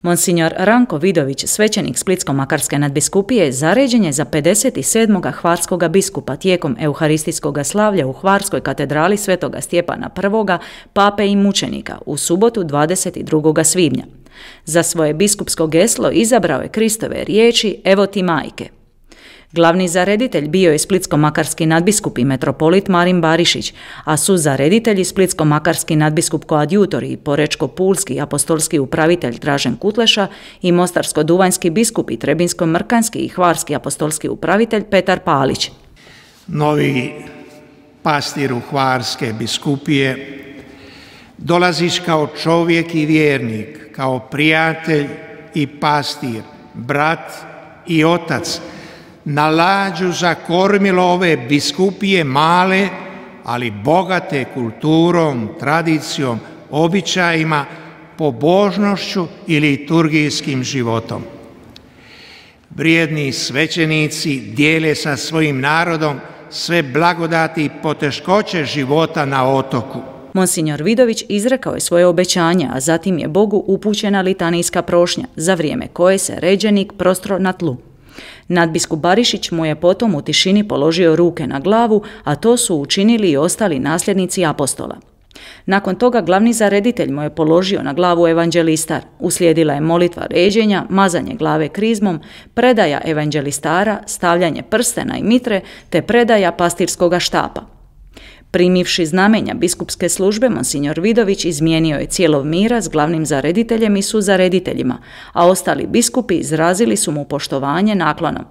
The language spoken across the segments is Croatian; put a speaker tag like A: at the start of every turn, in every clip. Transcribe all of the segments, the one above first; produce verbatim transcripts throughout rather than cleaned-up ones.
A: Monsignor Ranko Vidović, svećenik Splitsko-makarske nadbiskupije, zaređen je za pedeset sedmog hvarskoga biskupa tijekom euharistijskog slavlja u Hvarskoj katedrali Svetoga Stjepana I, pape i mučenika, u subotu dvadeset drugog svibnja. Za svoje biskupsko geslo izabrao je Kristove riječi "Evo ti majke". Glavni zareditelj bio je splitsko-makarski nadbiskup i metropolit Marin Barišić, a su zareditelji splitsko-makarski nadbiskup koadjutor i porečko-pulski apostolski upravitelj Dražen Kutleša i mostarsko-duvanjski biskup i trebinsko-mrkanjski i hvarski apostolski upravitelj Petar Palić.
B: Novi pastiru Hvarske biskupije, dolaziš kao čovjek i vjernik, kao prijatelj i pastir, brat i otac, na lađu za kormilo ove biskupije male, ali bogate kulturom, tradicijom, običajima, pobožnošću i liturgijskim životom. Vrijedni svećenici dijele sa svojim narodom sve blagodati i poteškoće života na otoku.
A: Monsignor Vidović izrekao je svoje obećanje, a zatim je Bogu upućena litanijska prošnja, za vrijeme koje se ređenik prostro na tlu. Nadbiskup Barišić mu je potom u tišini položio ruke na glavu, a to su učinili i ostali nasljednici apostola. Nakon toga glavni zareditelj mu je položio na glavu evanđelistar. Uslijedila je molitva ređenja, mazanje glave krizmom, predaja evanđelistara, stavljanje prstena i mitre te predaja pastirskoga štapa. Primivši znamenja biskupske službe, Monsignor Vidović izmijenio je cijelov mira s glavnim zarediteljem i suzarediteljima, a ostali biskupi izrazili su mu poštovanje naklonom.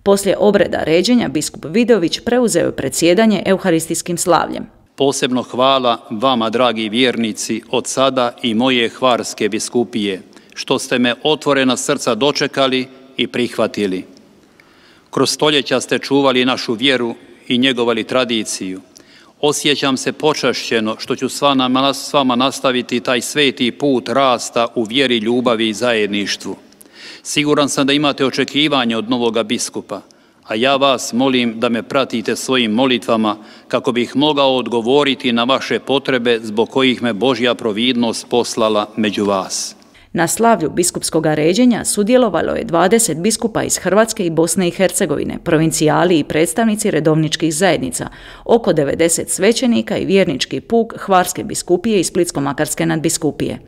A: Poslije obreda ređenja biskup Vidović preuzeo je predsjedanje euharistijskim slavljem.
C: Posebno hvala vama, dragi vjernici, od sada i moje Hvarske biskupije, što ste me otvorena srca dočekali i prihvatili. Kroz stoljeća ste čuvali našu vjeru i njegovali tradiciju. Osjećam se počašćeno što ću s vama nastaviti taj sveti put rasta u vjeri, ljubavi i zajedništvu. Siguran sam da imate očekivanje od novoga biskupa, a ja vas molim da me pratite svojim molitvama kako bih mogao odgovoriti na vaše potrebe zbog kojih me Božja providnost poslala među vas.
A: Na slavlju biskupskog ređenja sudjelovalo je dvadeset biskupa iz Hrvatske i Bosne i Hercegovine, provincijali i predstavnici redovničkih zajednica, oko devedeset svećenika i vjernički puk Hvarske biskupije i Splitsko-makarske nadbiskupije.